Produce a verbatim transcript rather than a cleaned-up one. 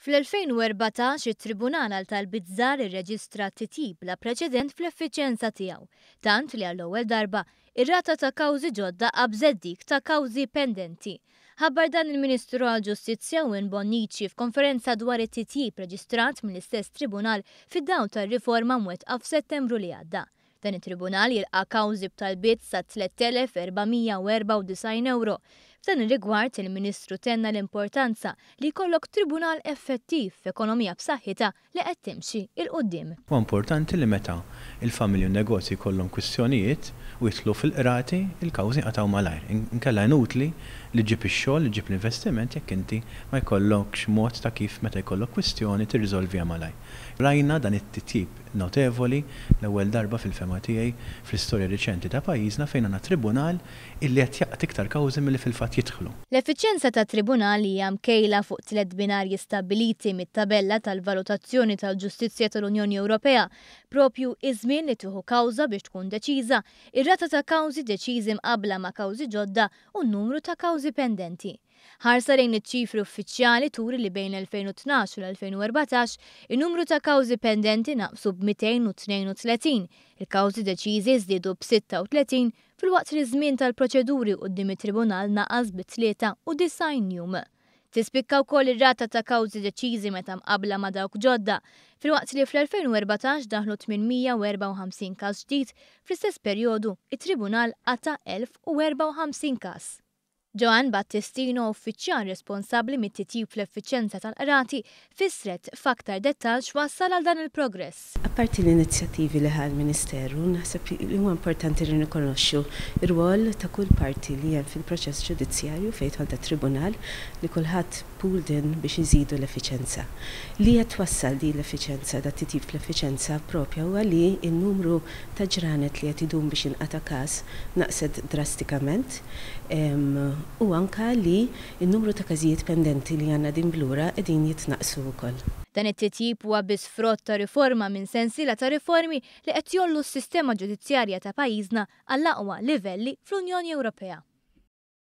Fl-elfejn u erbatax it-Tribunal għal Talbiet Żgħar irreġistra titjib bla preċedent fl-effiċjenza tiegħu, tant li għall-ewwel darba ir-rata ta' kawżi ġodda qabżet dik ta' kawżi pendenti. Ħabbar dan il-Ministru għall-Ġustizzja Owen Bonnici f'konferenza dwar it-titjib reġistrat mill-istess tribunal fid-dawl tar-riforma mwettqa f'Settembru li għadda. Dan it-tribunal jilqa' kawżi b'talbiet sa tlett elef erba' mija u erbgħa u disgħin euro. F'dan ir-rigward, il-Ministru tenna l-importanza li jkollok tribunal effettiv f'ekonomija b'saħħitha li qed timxi 'l quddiem. Huwa importanti li meta il-familji u n-negozji jkollhom kwistjonijiet u jidħlu fil-qrati, il-kawżi jinqatgħu malajr. Inkella inutli li ġġib ix-xogħol, li ġġib l-investiment jekk inti ma jkollokx mod ta' kif meta jkollok kwistjoni tirriżolviha malajr. Rajna dan it-titjib notevoli l-ewwel darba fil-fema tiegħi fl-istorja riċenti ta' pajjiżna fejn għandna tribunal illi qed jaqta' iktar kawżi milli fil-fatt jidħlu. L-effiċjenza ta' tribunal hija mkejla fuq tliet binarji stabbiliti mit-tabella tal-valutazzjoni tal-ġustizzja tal-Unjoni Ewropea, propju iż-żmien li tieħu kawża biex tkun deċiża, ir-rata ta' kawżi deċiżi mqabbla ma' kawżi ġodda u n-numru ta' kawżi pendenti. Ħarsa lejn iċ-ċifri uffiċjali turi li bejn l-elfejn u tnax u l-elfejn u erbatax in-numru ta' kawżi pendenti naqsu b'mitejn u tnejn u tletin, il-kawżi deċiżi żdiedu b'sitta u tletin filwaqt li ż-żmien tal-proċeduri quddiem it-tribunal naqas bi tlieta u disgħin jum. Tispikka wkoll ir-rata ta' kawżi deċiżi meta mqabbla ma' dawk ġodda, filwaqt li fl-elfejn u erbatax daħlu tmien mija u erbgħa u ħamsin każ ġdid, fl-istess perjodu it-tribunal qata' elf u erbgħa u ħamsin każ. Joanne Battistino, uffiċjal responsabbli mit-titjib fl-effiċjenza tal-qrati, fissret f'aktar dettall x'wassal għal dan il-progress. Apparti l-inizjattivi li ħa l-Ministeru, naħseb li huwa importanti li nirrikonoxxu r-rwol ta' kull parti li hemm fil-proċess ġudizzjarju fejn jidħol tat-tribunal li kulħadd pooled in biex iżidu l-effiċjenza. Li qed twassal din l-effiċjenza, da titjib fl-effiċjenza propja huwa li n-numru ta' ġranet li qed idum biex jinqata' każ naqset drastikament, em, u anka li n-numru ta' każijiet pendenti li għandna din blura qegħdin jitnaqsu wkoll. Dan it-titjib huwa biss frott ta' riforma minn sensiela ta' riformi li qed jgħollu s-sistema ġudizzjarja ta' pajjiżna għall-aqwa livelli fl-Unjoni Ewropea.